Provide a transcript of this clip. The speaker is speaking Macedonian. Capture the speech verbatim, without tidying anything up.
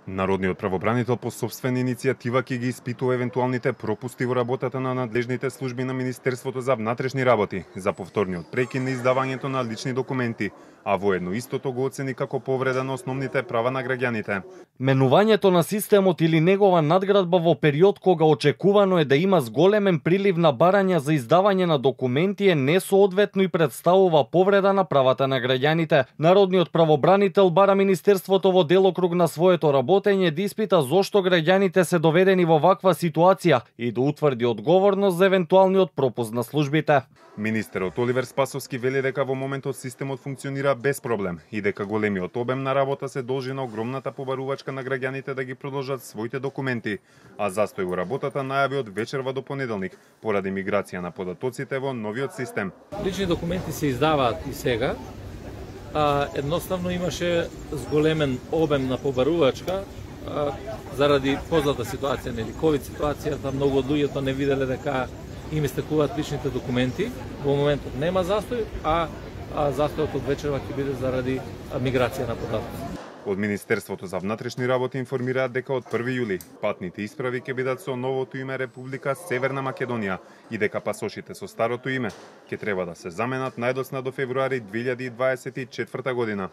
Народниот правобранител по сопствена иницијатива ќе ги испитува евентуалните пропусти во работата на надлежните служби на Министерството за внатрешни работи за повторниот прекин на издавањето на лични документи, а воедно истото го оцени како повреда на основните права на граѓаните. Менувањето на системот или негова надградба во период кога очекувано е да има зголемен прилив на барања за издавање на документи е несоодветно и представува повреда на правата на граѓаните. Народниот правобранител бара Министерството во делокруг на своето работење да испита зошто граѓаните се доведени во ваква ситуација и да утврди одговорност за евентуалниот пропуск на службите. Министерот Оливер Спасовски вели дека во моментот системот функционира без проблем и дека големиот обем на работа се должи на огромната побарувачка на граѓаните да ги продолжат своите документи, а застој во работата најави од вечерва до понеделник поради миграција на податоците во новиот систем. Лични документи се издаваат и сега. А, едноставно имаше зголемен обем на побарувачка а, заради позната ситуација, нели ковид ситуацијата, многу од луѓето не виделе дека им истекуваат личните документи. Во моментот нема застој, а, а застојот од вечерва ќе биде заради миграција на податоци. Од Министерството за внатрешни работи информираат дека од први јули патните исправи ќе бидат со новото име Република Северна Македонија и дека пасошите со старото име ќе треба да се заменат најдоцна до февруари две илјади и дваесет и четврта година.